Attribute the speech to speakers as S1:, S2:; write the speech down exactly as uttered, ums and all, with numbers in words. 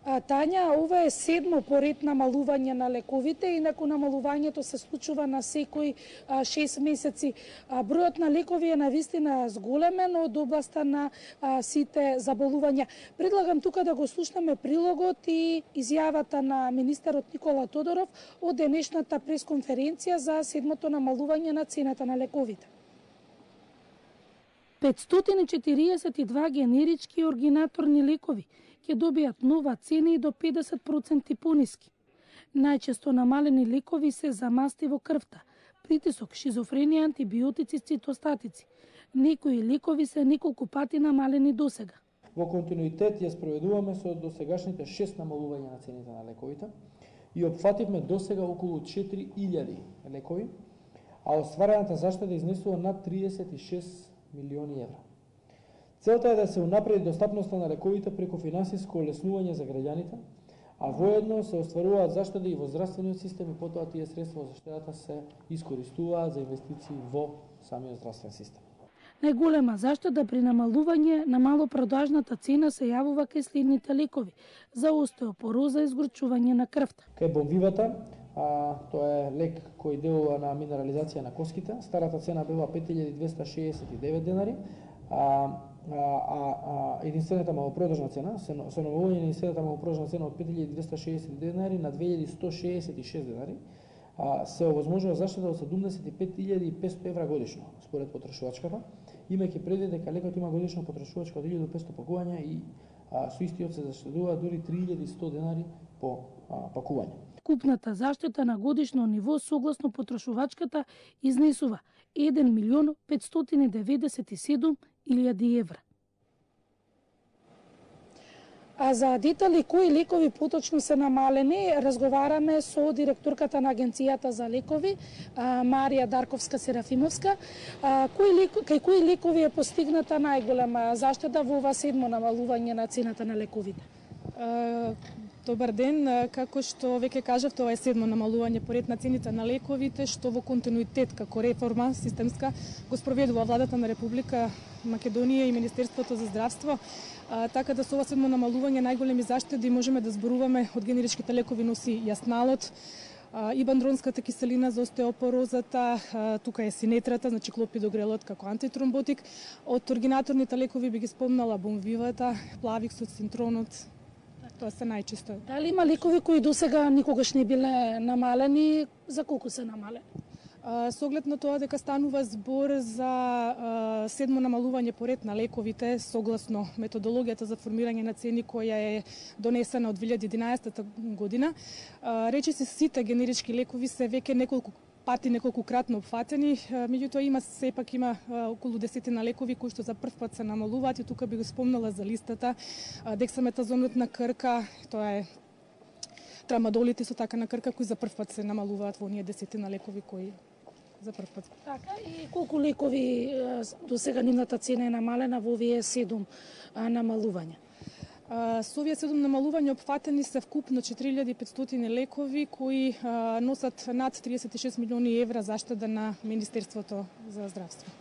S1: Тања, ова е седмо поред намалување на лековите, инаку намалувањето се случува на секои шест месеци. Бројот на лекови е навистина зголемен од областа на сите заболувања. Предлагам тука да го слушнеме прилогот и изјавата на министерот Никола Тодоров од денешната пресконференција за седмото намалување на цената на лековите. петстотини и четириесет и два генерички и оригинаторни лекови ќе добијат нова цена и до педесет проценти пониски. Најчесто намалени лекови се за масти во крвта, притисок, шизофренија, антибиотици, цитостатици. Некои лекови се неколку пати намалени досега.
S2: Во континуитет ја спроведуваме со досегашните шест намалувања на цените на лековите и опфативме досега околу четири илјади лекови, а остварената заштеда изнесува над триесет и шест милиони евра. Целта е да се унапреди достапноста на лековите преку финансиско олеснување за граѓаните, а воедно се остваруваат заштеди и во здравствениот систем и потоа тие средства од заштедата се искористуваат за инвестиции во самиот здравствен систем.
S1: Најголема заштеда при намалување на малопродажната цена се јавува кај следните лекови за остеопороза и згорчување на крвта.
S2: Кај бомвивата, а, тоа е лек кој делува на минерализација на коските, старата цена била пет илјади двесте шеесет и девет денари, а А, а, а единствената малопродажна цена, се намалување на единствената малопродажна цена од пет илјади двесте шеесет и девет денари на две илјади сто шеесет и шест денари, а, се овозможува заштеда од седумдесет и пет илјади и петстотини евра годишно, според потрошувачката, имајќи предвид дека лекот има годишно потрошувачка од илјада и петстотини пакувања и а, со истиот се заштедува дури три илјади и сто денари по а, пакување.
S1: Купната заштета на годишно ниво согласно потрошувачката изнесува еден милион петстотини деветдесет и седум илјади евра. А за детали кои лекови поточно се намалени, разговараме со директорката на Агенцијата за лекови, Марија Дарковска-Серафимовска. Кои леко, кај кои лекови е постигната најголема заштеда во ова седмо намалување на цената на лековите?
S3: Добар ден, како што веќе кажавте, ова е седмо намалување поред на цените на лековите, што во континуитет како реформа системска го спроведува владата на Република Македонија и Министерството за здравство, а, така да со ова седмо намалување најголеми заштеди можеме да зборуваме од генеричките лекови носи јасналот, ибандронската киселина за остеопорозата, а, тука е синетрата, значи клопидогрелот како антитромботик. Од оригинаторните лекови би ги спомнала бомвивата, плавиксот, синтронот. Тоа се најчесто.
S1: Дали има лекови кои досега никогаш не биле намалени, за колку се намалени?
S3: Со оглед на тоа дека станува збор за а, седмо намалување поред на лековите согласно методологијата за формирање на цени која е донесена од две илјади и единаесета година, а, речиси сите генерички лекови се веќе неколку пати неколкукратно опфатени, меѓутоа има сепак има а, околу десетина лекови кои што за прв пат се намалуваат и тука би го спомнала за листата а, дексаметазонот на крка, тоа е трамадолите со така на крка кои за прв пат се намалуваат во оние десетина лекови кои за прв пат.
S1: Така, и колку лекови до сега нивната цена е намалена во овие седум намалувања?
S3: Со овие седум намалувања опфатени се вкупно четири илјади и петстотини лекови кои а, носат над триесет и шест милиони евра заштеда на Министерството за здравство.